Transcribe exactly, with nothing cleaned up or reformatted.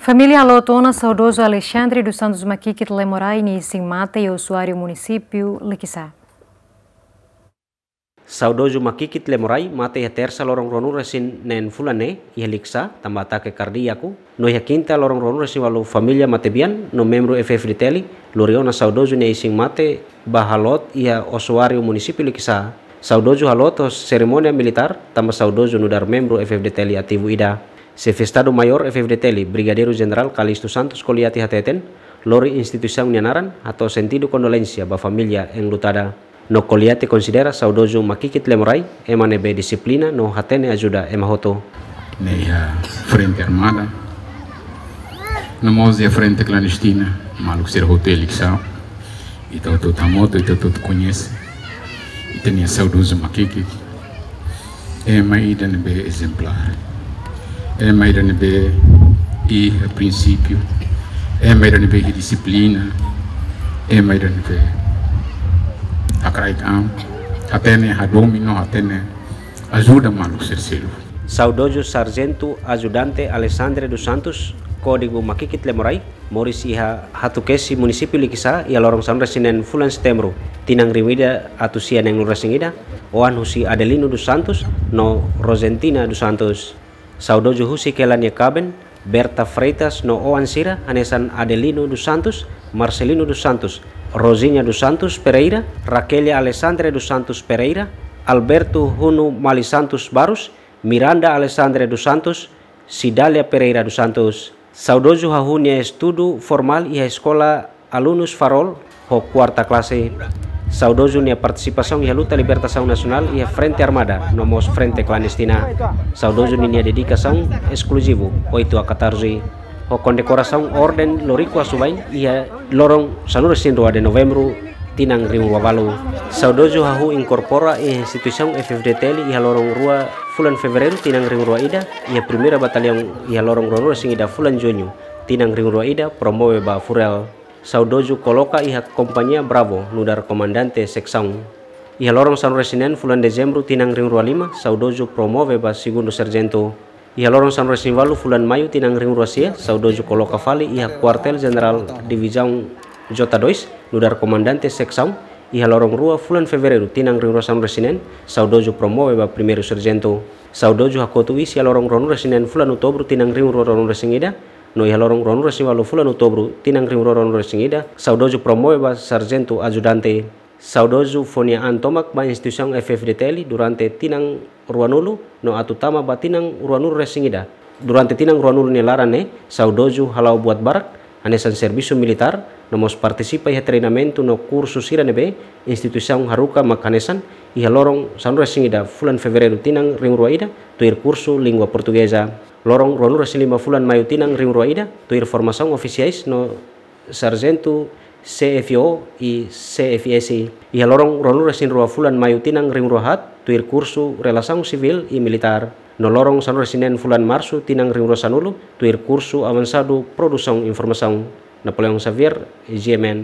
Família haloot ona saudozu Alexandre dos Santos Makikit Lemorai nia isin-mate iha Osuáriu, munisípiu Liquiçá. Saudozu Makikit Lemorai mate iha Tersa loron ruanulu-resin-neen fulan ne'e iha Liquiçá, tanba atake kardíaku. No iha Kinta loron ruanulu-resin-ualu família matebian no membru F-FDTL lori ona saudozu nia isin-mate ba haloot iha Osuáriu, munisípiu Liquiçá. Saudozu haloot ho serimónia militár tanba saudozu nu'udar membru F-FDTL ativu ida. Xefe Estadu-Maiór F-FDTL, Brigadeiru Jenerál Calixto Santos Koliate hateten, lori instituisaun nia naran hato'o sentidu kondolénsia ba família enlutada. No Koliate konsidera saudozu Makikit Lemorai ema ne'ebé dixiplina no hatene ajuda ema hotu. Ne'e iha frente armada, no mós iha frente klandestina, maluk sira hotu iha Liquiçá, ita hotu hamutuk, ita hotu koñese. Ita-nia saudozu Makikit, ema ida ne'ebé ezemplár. Ema ida ne'ebé iha prinsípiu. Ema ida ne'ebé iha dixiplina. Ema ida ne'ebé hakraik an. Hatene hadomi no hatene ajuda maluk sira seluk. Saudozu Sarjentu Ajudante Alexandre dos Santos, kódigu Makikit Lemorai, moris iha Hatukesi, munisípiu Liquiçá, iha loron sanulu-resin-neen fulan Setembru, tinan rihun ida atus sia neenulu-resin-ida, oan husi Adelino dos Santos no Rosentina dos Santos. Saudozu husik hela nia kaben, Berta Freitas, no oan sira hanesan Adelino dos Santos, Marcelino dos Santos, Rosinha dos Santos Pereira, Raquelia Alexandre dos Santos Pereira, Alberto Huno Mali Santos Barros, Miranda Alexandre dos Santos, Cidália Pereira dos Santos. Saudozu hahú nia estudu formál iha eskola Alunus Farol ho kuarta klase. Saudozu nia partisipasaun iha luta libertasaun nasionál iha frente armada no mós frente klandestina. Saudozu ninia dedikasaun eskluzivu oito a catorze. Ho kondekorasaun Orden Loriku Asubain iha loron sanulu-resin-rua de Novembru, tinan rihun rua ualu. Saudozu hahú inkorpora iha instituisaun F-FDTL iha loron rua fulan Fevereiru, tinan rihun rua ida, iha Primeira Bataliaun iha loron ruanulu-resin-ida fulan Juñu, tinan rihun rua ida, promove ba Furel. Saudozu koloka iha Kompañia Bravo nu'udar komandante seksaun. Iha loron sanulu-resin-neen fulan Dezembru, tinan rihun rua lima, saudozu promove ba Segundu Sarjentu. Iha loron sanulu-resin-ualu fulan Maiu, tinan rihun rua sia, saudozu koloka fali iha Kuartél Jenerál Divizaun J dois nu'udar komandante seksaun. Iha loron rua fulan Fevereiru, tinan rihun rua sanulu-resin-neen, saudozu promove ba Primeiru Sarjentu. Saudozu hakotu iis iha loron ruanulu-resin-neen fulan Outubru, tinan rihun rua ruanulu-resin-ida, no iha loron ruanulu-resin-ualu fulan Outubru, tinan rihun rua ruanulu-resin-ida, saudozu promove ba Sarjentu Ajudante. Saudozu fó nia an tomak ba instituisaun F-FDTL durante tinan ruanulu no atu tama ba tinan ruanulu-resin-ida. Durante tinan ruanulu nia laran ne'e, saudozu hala'o buat barak, hanesan servisu militár, no mós partisipa iha treinamentu no kursu sira ne'ebé instituisaun haruka, mak hanesan iha loron sanulu-resin-ida fulan Fevereiru, tinan rihun rua ida, tuir kursu língua portugeza. Loron ruanulu-resin-lima fulan Maiu, tinan rihun rua ida, tuir formasaun ofisiais no sarjentu C F O i C F S. Iha loron ruanulu-resin-rua fulan Maiu, tinan rihun rua haat, tuir kursu relasaun sivíl i militár. No loron sanulu-resin-neen fulan Marsu, tinan rihun rua sanulu, tuir kursu avansadu produsaun informasaun. Napoleão Xavier, G M N.